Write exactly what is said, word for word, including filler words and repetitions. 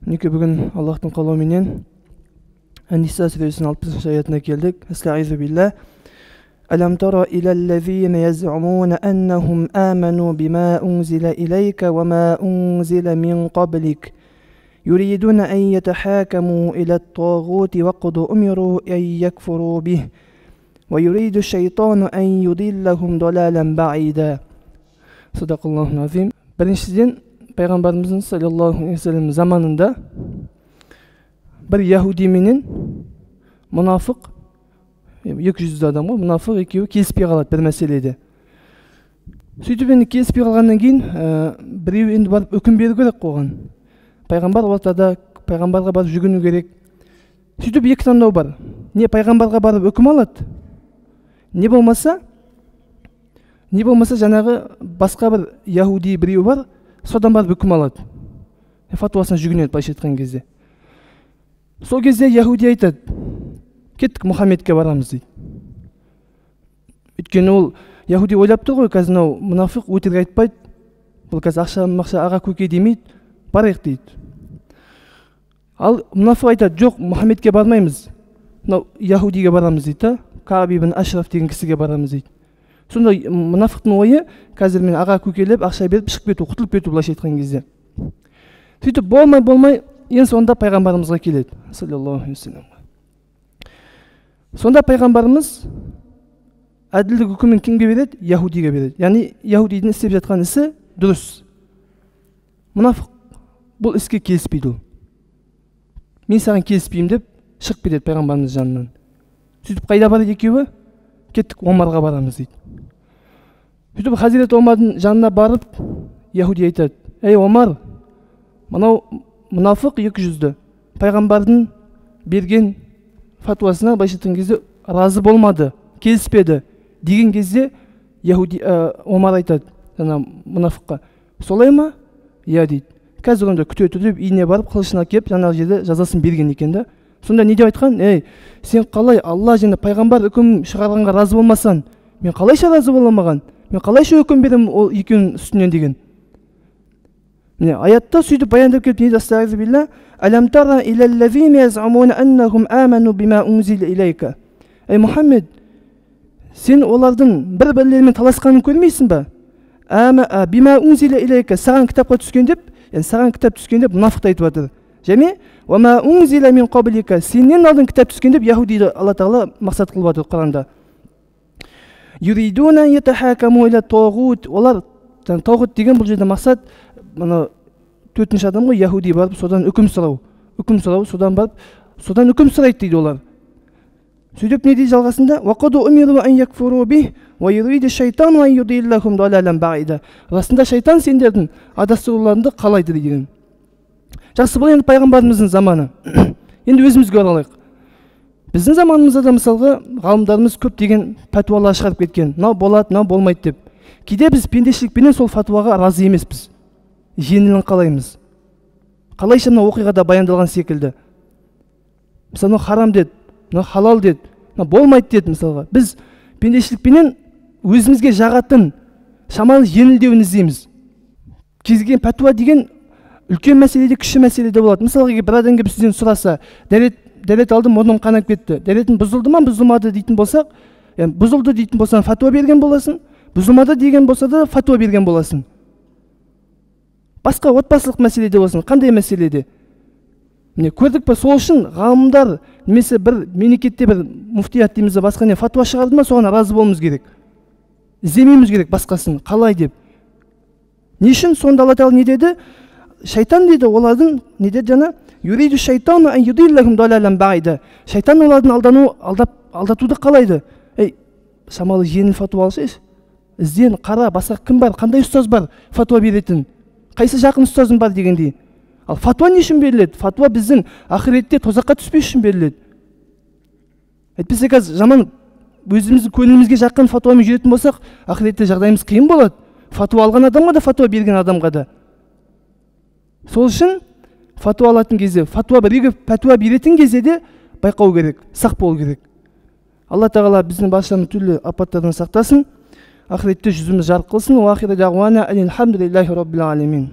Неке бүгін Аллахтың қалауыменен Ан-Ниса сүресінің алпысыншы аятына келдік. Астағизу билlah. Алам тара илаллазина яз'умуна аннахум аману бима унзила илайка ва ма унзила мин qablик. يريدون أن يتحاكموا إلى الطاغوت وقد أمروا أن يكفروا به ويريد الشيطان أن يضلهم ضلالا بعيدا. Sadaqallahu azim. Біріншіден, пайғамбарымыздың саллаллаху алейхи ва саллям заманында бір яһуди менен мұнафық, екі жүзді адам ғой, мұнафық екеуі келіспей қалады бір мәселеде. Сөйтіп енді келіспей қалғаннан кейін біреу енді барып үкім беру керек қойған. Пайғамбар ортада, пайғамбарға барып жүгіну керек. Сөйтіп екі таңдау бар. Не пайғамбарға барып үкім алады, не болмаса, не болмаса жаңағы басқа бір яһуди біреу бар, содан барып үкім алады. Фатуасына жүгінеді, былайша айтқан кезде. Сол кезде яһуди айтады: кеттік, Мұхаммедке барамыз дейді. Өйткені ол яһуди ойлап тұр ғой, қазір мынау мұнафық өтірік айтпайды, бұл қазір ақша мақша аға көке демейді, барайық дейді. Ал мұнафық айтады: жоқ, Мұхаммедке бармаймыз, мынау яһудиге барамыз дейді, Кааб ибн Ашраф деген кісіге барамыз дейді. Сонда мұнафықтың ойы қазір мен аға көкелеп ақша беріп шығып кету, құтылып кету, былайша айтқан кезде. Сөйтіп болмай болмай ең соңында пайғамбарымызға келеді, саллаллаху алейхи ва саллям. Сонда пайғамбарымыз әділдік үкімін кімге береді? Яһудиге береді. Яғни яһудидің істеп жатқан ісі дұрыс. Мұнафық бұл іске келіспейді. Мен саған келіспеймін деп шығып кетеді пайғамбарымыз жанынан. Сөйтіп қайда барады екеуі? Кеттік, Омарға барамыз дейді. Сөйтіп Хазірет Омардың жанына барып, яһуди айтады: ей Омар, мынау мұнафық екі жүзді пайғамбардың берген фатуасына былайша айтқан кезде разы болмады, келіспеді деген кезде яһуди Омар айтады жаңа мұнафыққа: солай ма? Иә дейді. Қазір онда күте тұр деп үйіне барып қылышын әкеп жаңағы жерде жазасын берген екен да. Сонда не деп айтқан? Ей, сен қалай Алла және пайғамбар үкім шығарғанға разы болмасаң, мен қалайша разы боламаған? Мен қалайша үкім берем ол екеуінің үстінен деген. Міне аятта сөйтіп баяндап келіп не астағизу билlah: алам тара илаллазина яз'умуна аннахум аману бима унзила илайка. Ей Мұхаммед, сен олардың бір-бірлерімен таласқанын көрмейсің ба? Ама бима унзила илайка, саған кітапқа түскен деп, яғни саған кітап түскен деп мұнафық айтып жатыр. Және ва ма унзила мин qablika, сенен алдын кітап түскен деп яһудиді Алла Тағала мақсат қылып жатыр Құранда. Юридуна ятахакаму иля тағут, олар тағут деген бұл жерде мақсат, мына төртінші адам ғой, яһуди барып содан үкім сұрау, үкім сұрау, содан барып содан үкім сұрайды дейді олар. Сөйтіп не дейді жалғасында? Вақаду умиру ан якфуру бих ва юриду шайтану ан юдиллахум далалан баида. Расында шайтан сендердің адастыруларыңды қалайды деген. Жақсы, бұл енді пайғамбарымыздың заманы. Енді өзімізге оралайық. Біздің заманымызда да мысалға ғалымдарымыз көп деген пәтуалар шығарып кеткен. Мынау болады, мынау болмайды деп. Кейде біз пендешілікпенен сол фатуаға разы емеспіз. Жеңілін қалаймыз. Қалайша мына оқиғада баяндалған секілді. Мысалы, мынау харам деді, мынау халал деді, мынау болмайды деді мысалға. Біз пендешілікпенен өзімізге жағатын шамалы жеңілдеуін іздейміз. Кез келген пәтуа деген үлкен мәселеде, кіші мәселеде болады. Мысалға бір адам келіп сізден сұраса, дәрет дәрет алдым, мұрным қанап кетті. Дәретің бұзылды ма, бұзылмады дейтін болсақ, яғни бұзылды дейтін болсаң фатуа берген боласың, бұзылмады деген болса да фатуа берген боласың. Басқа отбасылық мәселеде болсын, қандай мәселеде? Міне көрдік па, сол үшін ғалымдар немесе бір мемлекетте бір муфтият дейміз бе, басқа не фатуа шығарды ма, соған разы болуымыз керек. Іздемеуіміз керек басқасын, қалай деп. Не үшін? Сонда Алла Тағала не деді? Шайтан дейді, олардың не деді жаңа? Юриду шайтану ан юдиллахум далалан баида. Шайтан олардың алдану, алдап, алдатуды қалайды. Ей, шамалы жеңіл фатуа алсайшы. Ізден, қара, басқа кім бар, қандай ұстаз бар фатуа беретін? Қайсы жақын ұстазым бар дегендей. Ал фатуа не үшін беріледі? Фатуа біздің ақиретте тозаққа түспес үшін беріледі. Әйтпесе қазір жаман өзіміздің көңілімізге жаққан фатуамен жүретін болсақ, ақиретте жағдайымыз қиын болады. Фатуа алған адамға да, фатуа берген адамға да. Сол үшін фатуа алатын кезде, фатуа біреуге фатуа беретін кезде де байқау керек, сақ болу керек. Алла Тағала біздің баршамызды түрлі апаттардан сақтасын, ақиретте жүзіміз жарық қылсын. Уа ахиру дағуана анил хамдулиллахи раббил алемин.